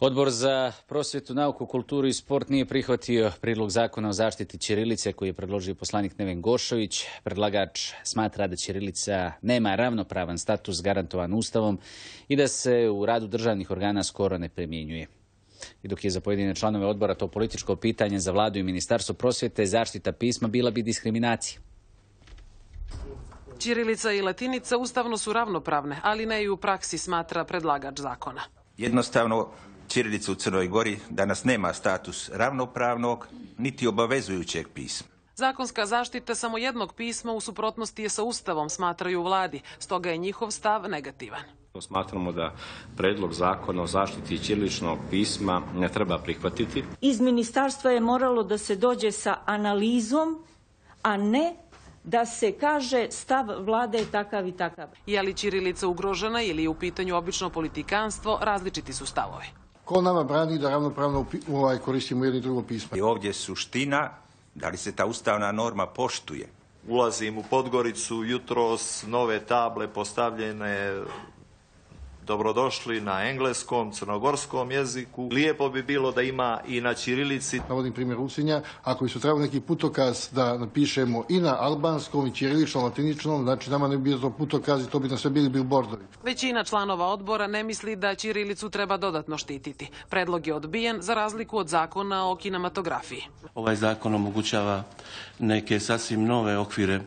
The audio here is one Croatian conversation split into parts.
Odbor za prosvjetu, nauku, kulturu i sport nije prihvatio prijedlog zakona o zaštiti ćirilice koji je predložio poslanik Neven Gošović. Predlagač smatra da ćirilica nema ravnopravan status garantovan Ustavom i da se u radu državnih organa skoro ne primjenjuje. I dok je za pojedine članove odbora to političko pitanje, za vladu i ministarstvo prosvjete zaštita pisma bila bi diskriminacija. Ćirilica i latinica ustavno su ravnopravne, ali ne i u praksi, smatra predlagač zakona. Jednostavno, ćirilica u Crnoj Gori danas nema status ravnopravnog niti obavezujućeg pisma. Zakonska zaštita samo jednog pisma u suprotnosti je sa Ustavom, smatraju u vladi, stoga je njihov stav negativan. Smatramo da predlog zakona o zaštiti ćiriličnog pisma ne treba prihvatiti. Iz ministarstva je moralo da se dođe sa analizom, a ne da se kaže stav vlade je takav i takav. Je li ćirilica ugrožena ili je u pitanju obično politikanstvo, različiti su stavovi. Ko nama brani da ravnopravno koristimo jedno i drugo pismo? I ovdje je suština, da li se ta ustavna norma poštuje. Ulazim u Podgoricu, jutros nove table postavljene, dobrodošli na engleskom, crnogorskom jeziku. Lijepo bi bilo da ima i na ćirilici. Navodim primjer Usinja, ako bi su trebali neki putokaz da napišemo i na albanskom, i ćiriličnom, latiničnom, znači nama ne bi bio to putokaz i to bi nam sve bili bilbordovi. Većina članova odbora ne misli da ćirilicu treba dodatno štititi. Predlog je odbijen za razliku od zakona o kinematografiji. Ovaj zakon omogućava neke sasvim nove okvire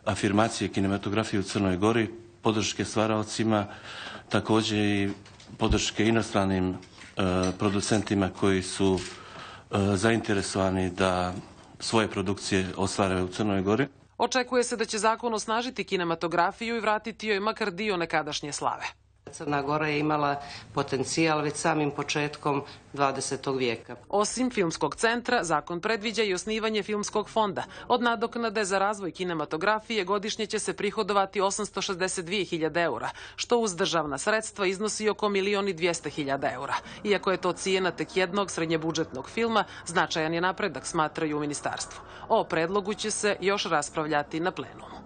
afirmacije kinematografije u Crnoj Gori, podrške stvaraocima, također i podrške inostranim producentima koji su zainteresovani da svoje produkcije ostvare u Crnoj Gori. Očekuje se da će zakon osnažiti kinematografiju i vratiti joj makar dio nekadašnje slave. Crna Gora je imala potencijal već samim početkom 20. vijeka. Osim filmskog centra, zakon predviđa i osnivanje filmskog fonda. Od nadoknade za razvoj kinematografije godišnje će se prihodovati 862.000 eura, što uz državna sredstva iznosi oko 1.200.000 eura. Iako je to cijena tek jednog srednjebudžetnog filma, značajan je napredak, smatraju u ministarstvu. O predlogu će se još raspravljati na plenumu.